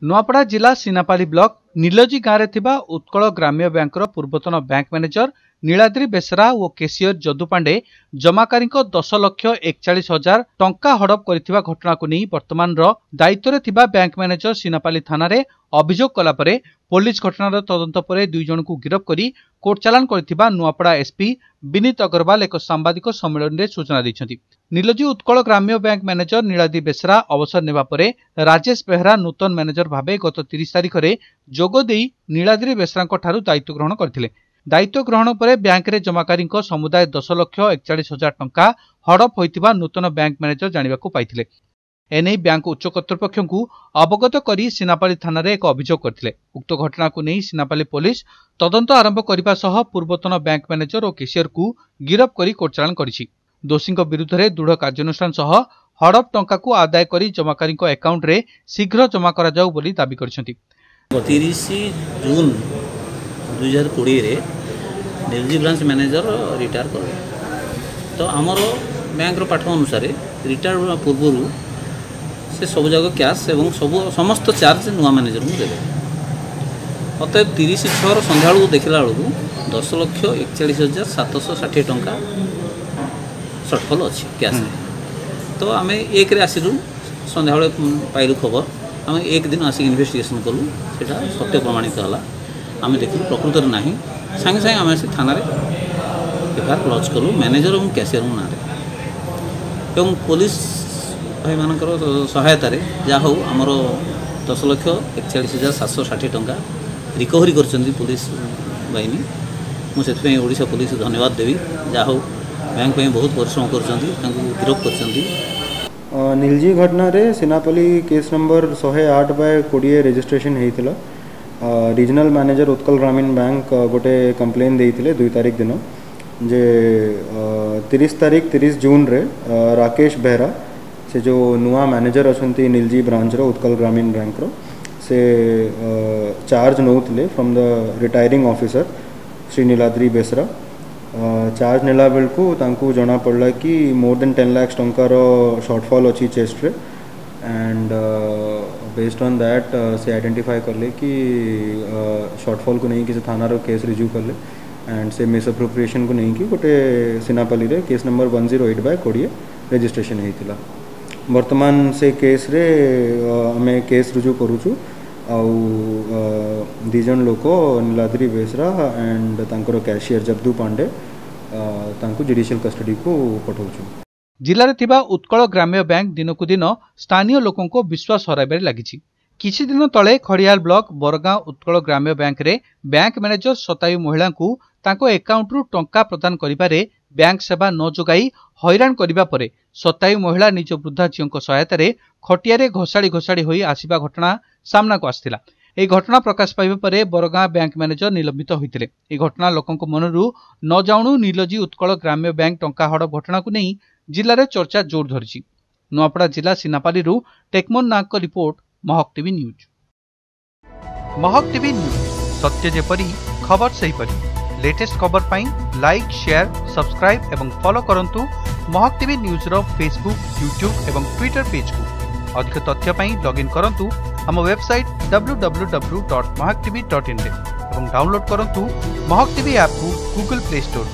ନୂଆପଡ଼ା ଜିଲ୍ଲା ସିନାପାଲି ବ୍ଲକ ନିଲଜି ଗାଁରେ ଥିବା ଉତ୍କଳ ଗ୍ରାମ୍ୟ ବ୍ୟାଙ୍କର ପୂର୍ବତନ ବ୍ୟାଙ୍କ ମ୍ୟାନେଜର ନୀଳାଦ୍ରି ବେସରା ଓ କେସିୟର ଯଦୁ ପାଣ୍ଡେ ଜମାକାରୀଙ୍କ 10,41,000 ଟଙ୍କା ହଡପ କରିଥିବା ଘଟଣାକୁ ନେଇ ବର୍ତ୍ତମାନର ଦାୟିତ୍ୱରେ ଥିବା ବ୍ୟାଙ୍କ ମ୍ୟାନେଜର ସିନାପାଲି ଥାନାରେ ଅଭିଯୋଗ କଲା ପରେ ପୋଲିସ ଘଟଣାର ତଦନ୍ତ ପରେ 2 ଜଣଙ୍କୁ ଗିରଫ କରି କୋର୍ଟ ଚାଲାଣ କରିଥିବା ନୂଆପଡ଼ା ଏସ୍ପି ବିନୀତ ଅଗ୍ରୱାଲ ଏକ ସାମ୍ବାଦିକ ସମ୍ମିଳନୀରେ ସୂଚନା ଦେଇଛନ୍ତି। ନିଲଜି ଉତ୍କଳ ଗ୍ରାମ୍ୟ ବ୍ୟାଙ୍କ ମ୍ୟାନେଜର ନୀଳାଦ୍ରି ବେସରା ଅବସର ନେବା ପରେ ରାଜେଶ ବେହେରା ନୂତନ ମ୍ୟାନେଜର ଭାବେ ଗତ 30 ତାରିଖରେ ଯୋଗ ଦେଇ ନୀଳାଦ୍ରି ବେସରାଙ୍କ ଠାରୁ ଦାୟିତ୍ୱ ଗ୍ରହଣ କରିଥିଲେ। ଦାୟିତ୍ୱ ଗ୍ରହଣ ପରେ ବ୍ୟାଙ୍କରେ ଜମାକାରୀଙ୍କ ସମୁଦାୟ 10,41,000 ଟଙ୍କା ହଡପ ହୋଇଥିବା ନୂତନ ବ୍ୟାଙ୍କ ମ୍ୟାନେଜର ଜାଣିବାକୁ ପାଇଥିଲେ। ଏନେଇ ବ୍ୟାଙ୍କ ଉଚ୍ଚ କର୍ତ୍ତୃପକ୍ଷଙ୍କୁ ଅବଗତ କରି ସିନାପାଲି ଥାନାରେ ଏକ ଅଭିଯୋଗ କରିଥିଲେ। ଉକ୍ତ ଘଟଣାକୁ ନେଇ ସିନାପାଲି ପୋଲିସ ତଦନ୍ତ ଆରମ୍ଭ କରିବା ସହ ପୂର୍ବତନ ବ୍ୟାଙ୍କ ମ୍ୟାନେଜର ଓ କେସିୟରକୁ ଗିରଫ କରି କୋର୍ଟ ଚାଲାଣ କରିଛି। ଦୋଷୀଙ୍କ ବିରୁଦ୍ଧରେ ଦୃଢ଼ କାର୍ଯ୍ୟାନୁଷ୍ଠାନ ସହ ହଡପ ଟଙ୍କାକୁ ଆଦାୟ କରି ଜମାକାରୀଙ୍କ ଆକାଉଣ୍ଟରେ ଶୀଘ୍ର ଜମା କରାଯାଉ ବୋଲି ଦାବି କରିଛନ୍ତି। 30 ଜୁନ୍ 2020ରେ ନିଲଜି ବ୍ରାଞ୍ଚ ମ୍ୟାନେଜର ରିଟାୟାର କଲେ। ତ ଆମର ବ୍ୟାଙ୍କର ପାଠ ଅନୁସାରେ ରିଟାୟାର ପୂର୍ବରୁ ସେ ସବୁଯାକ କ୍ୟାସ୍ ଏବଂ ସବୁ ସମସ୍ତ ଚାର୍ଜ ନୂଆ ମ୍ୟାନେଜରଙ୍କୁ ଦେବେ। ଅତଏବ 30/6 ସନ୍ଧ୍ୟାବେଳକୁ ଦେଖିଲା ବେଳକୁ 10,41,760 ଟଙ୍କା ସର୍ଟଫଲ୍ ଅଛି କ୍ୟାସ୍ରେ। ତ ଆମେ 1ରେ ଆସିଲୁ, ସନ୍ଧ୍ୟାବେଳେ ପାଇଲୁ ଖବର। ଆମେ 1 ଦିନ ଆସିକି ଇନଭେଷ୍ଟିଗେସନ୍ କଲୁ, ସେଇଟା ସତ୍ୟ ପ୍ରମାଣିତ ହେଲା। ଆମେ ଦେଖିଲୁ ପ୍ରକୃତରେ ନାହିଁ। ସାଙ୍ଗେ ସାଙ୍ଗେ ଆମେ ଆସି ଥାନାରେ ଏଫଆଇଆର୍ ଲଞ୍ଚ କଲୁ ମ୍ୟାନେଜର ଏବଂ କ୍ୟାସିୟରଙ୍କ ନାଁରେ, ଏବଂ ପୋଲିସ ଭାଇମାନଙ୍କର ସହାୟତାରେ ଯାହା ହଉ ଆମର 10,41,760 ଟଙ୍କା ରିକଭରି କରିଛନ୍ତି ପୋଲିସ ବାହିନୀ। ମୁଁ ସେଥିପାଇଁ ଓଡ଼ିଶା ପୋଲିସକୁ ଧନ୍ୟବାଦ ଦେବି। ଯାହା ହଉ ବ୍ୟାଙ୍କ ପାଇଁ ବହୁତ ପରିଶ୍ରମ କରୁଛନ୍ତି, ତାଙ୍କୁ ଗିରଫ କରିଛନ୍ତି। ନିଲଜି ଘଟଣାରେ ସିନାପାଲି କେସ୍ ନମ୍ବର 108/20 ରେଜିଷ୍ଟ୍ରେସନ୍ ହେଇଥିଲା। ରିଜନାଲ୍ ମ୍ୟାନେଜର ଉତ୍କଳ ଗ୍ରାମୀଣ ବ୍ୟାଙ୍କ ଗୋଟେ କମ୍ପ୍ଲେନ୍ ଦେଇଥିଲେ 2 ତାରିଖ ଦିନ ଯେ 30 ତାରିଖ 30 ଜୁନ୍ରେ ରାକେଶ ବେହେରା, ସେ ଯେଉଁ ନୂଆ ମ୍ୟାନେଜର ଅଛନ୍ତି ନିଲଜି ବ୍ରାଞ୍ଚର ଉତ୍କଳ ଗ୍ରାମୀଣ ବ୍ୟାଙ୍କର, ସେ ଚାର୍ଜ ନେଉଥିଲେ from the retiring officer Shri Niladri Besra. Charge ନେଲା ବେଳକୁ ତାଙ୍କୁ ଜଣାପଡ଼ିଲା କି ମୋର୍ ଦେନ୍ 10 ଲାକ୍ସ ଟଙ୍କାର ସର୍ଟଫଲ୍ ଅଛି ଚେଷ୍ଟରେ। ଆଣ୍ଡ ବେସ୍ଡ ଅନ୍ that ସେ ଆଇଡେଣ୍ଟିଫାଏ କଲେ କି ସର୍ଟଫଲ୍କୁ ନେଇକି ସେ ଥାନାର କେସ୍ ରୁଜୁ କଲେ। ଆଣ୍ଡ ସେ ମିସ୍ଆପ୍ରୋପ୍ରିଏସନ୍କୁ ନେଇକି ଗୋଟେ ସିନାପାଲିରେ କେସ୍ ନମ୍ବର 108/20 ରେଜିଷ୍ଟ୍ରେସନ୍ ହେଇଥିଲା। ବର୍ତ୍ତମାନ ସେ କେସ୍ରେ ଆମେ କେସ୍ ରୁଜୁ କରୁଛୁ ଆଉ 2 ଜଣ ଲୋକ ନୀଳାଦ୍ରି ବେସରା ଆଣ୍ଡ ତାଙ୍କର କ୍ୟାସିୟର ଜଗଦୁ ପାଣ୍ଡେ ତାଙ୍କୁ ଜୁଡ଼ିସିଆଲ କଷ୍ଟଡିକୁ ପଠାଉଛୁ। ଜିଲ୍ଲାରେ ଥିବା ଉତ୍କଳ ଗ୍ରାମ୍ୟ ବ୍ୟାଙ୍କ ଦିନକୁ ଦିନ ସ୍ଥାନୀୟ ଲୋକଙ୍କ ବିଶ୍ୱାସ ହରାଇବାରେ ଲାଗିଛି। କିଛି ଦିନ ତଳେ ଖଡ଼ିଆଲ ବ୍ଲକ ବରଗାଁ ଉତ୍କଳ ଗ୍ରାମ୍ୟ ବ୍ୟାଙ୍କରେ ବ୍ୟାଙ୍କ ମ୍ୟାନେଜର ଶତାୟୁ ମହିଳାଙ୍କୁ ତାଙ୍କ ଆକାଉଣ୍ଟରୁ ଟଙ୍କା ପ୍ରଦାନ କରିବାରେ ବ୍ୟାଙ୍କ ସେବା ନ ଯୋଗାଇ ହଇରାଣ କରିବା ପରେ ଶତାୟୁ ମହିଳା ନିଜ ବୃଦ୍ଧା ଝିଅଙ୍କ ସହାୟତାରେ ଖଟିଆରେ ଘୋଷାଡ଼ି ଘୋଷାଡ଼ି ହୋଇ ଆସିବା ଘଟଣା ସାମ୍ନାକୁ ଆସିଥିଲା। ଏହି ଘଟଣା ପ୍ରକାଶ ପାଇବା ପରେ ବରଗାଁ ବ୍ୟାଙ୍କ ମ୍ୟାନେଜର ନିଲମ୍ବିତ ହୋଇଥିଲେ। ଏହି ଘଟଣା ଲୋକଙ୍କ ମନରୁ ନ ଯାଉଣୁ ନିଲଜି ଉତ୍କଳ ଗ୍ରାମ୍ୟ ବ୍ୟାଙ୍କ ଟଙ୍କା ହଡପ ଘଟଣାକୁ ନେଇ ଜିଲ୍ଲାରେ ଚର୍ଚ୍ଚା ଜୋର ଧରିଛି। ନୂଆପଡ଼ା ଜିଲ୍ଲା ସିନାପାଲିରୁ ଟେକମୋହନ ନାଗଙ୍କ report, Mahak TV news. Mahak TV news, ସତ୍ୟ ଯେପରି ଖବର ସେହିପରି। ଲେଟେଷ୍ଟ ଖବର ପାଇଁ ଲାଇକ୍, ସେୟାର, ସବସ୍କ୍ରାଇବ୍ ଏବଂ ଫଲୋ କରନ୍ତୁ ମହକ ଟିଭି ନ୍ୟୁଜ୍ର ଫେସବୁକ୍, ୟୁଟ୍ୟୁବ୍ ଏବଂ ଟ୍ୱିଟର ପେଜ୍କୁ। ଅଧିକ ତଥ୍ୟ ପାଇଁ ଲଗ୍ଇନ୍ କରନ୍ତୁ ଆମ ୱେବସାଇଟ୍ www.mahaktv.in ରେ ଏବଂ ଡାଉନଲୋଡ୍ କରନ୍ତୁ ମହକ ଟିଭି ଆପ୍କୁ ଗୁଗଲ ପ୍ଲେ ଷ୍ଟୋରରୁ।